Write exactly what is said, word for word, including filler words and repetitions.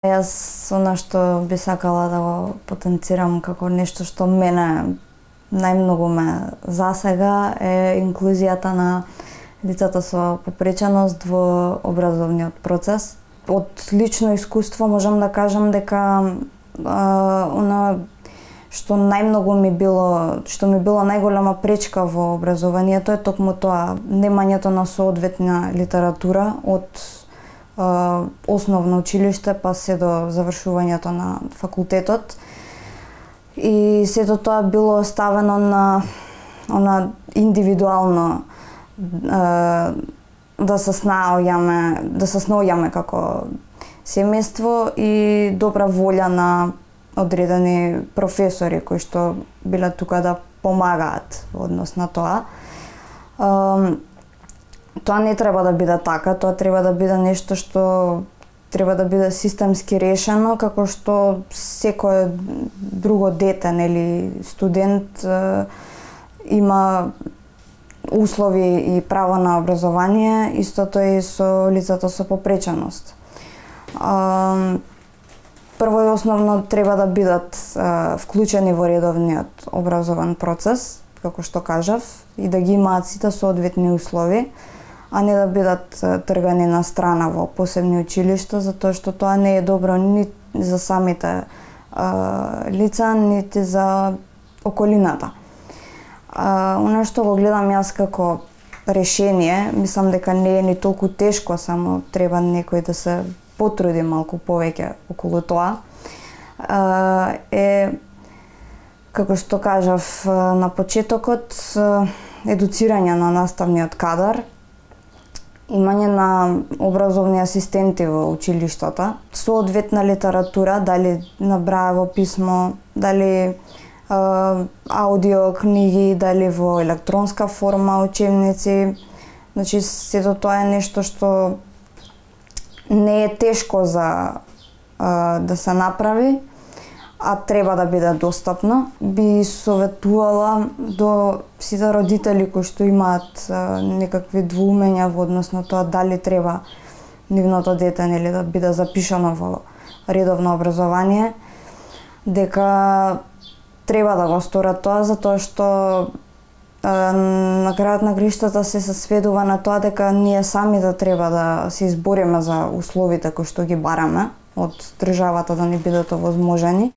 Јас она што би сакала да го потенцирам како нешто што мене најмногу ме засега е инклузијата на лицата со попреченост во образовниот процес. Од лично искуство можам да кажам дека а, она што најмногу ми било, што ми било најголема пречка во образованието е токму тоа, немањето на соодветна литература од а, основно училиште па се до завршувањето на факултетот. И сето тоа било ставено на она индивидуално а, да се снаоѓаме, да се снаоѓаме како семејство и добра волја на одредени професори кои што биле тука да помагаат во однос на тоа. А, тоа не треба да биде така, тоа треба да биде нешто што треба да биде системски решено, како што секое друго дете, нели, студент е, има услови и право на образование, истото и со лицата со попреченост. А, прво и основно треба да бидат а, вклучени во редовниот образовен процес, како што кажав, и да ги имаат сите соодветни услови, а не да бидат тргани на страна во посебни училишта, затоа што тоа не е добро ни за самите а, лица, нити за околината. А, оно што го гледам јас како решение, мислам дека не е ни толку тешко, само треба некој да се потруди малку повеќе околу тоа, а, е, како што кажав на почетокот, едуцирање на наставниот кадар, имање на образовни асистенти во училиштата, соодветна литература, дали на браево писмо, дали а, аудио книги, дали во електронска форма учебници. Значи, сето тоа е нешто што не е тешко за а, да се направи, а треба да биде достапно. Би советувала до сите родители кои што имаат а, некакви двоумења во однос на тоа дали треба нивното дете, нели, да биде запишано во редовно образование, дека треба да го сторат тоа, затоа што а, на крајот на краиштата се се сведува на тоа дека ние самите треба да се избориме за условите кои што ги бараме од државата да ни бидат овозможени.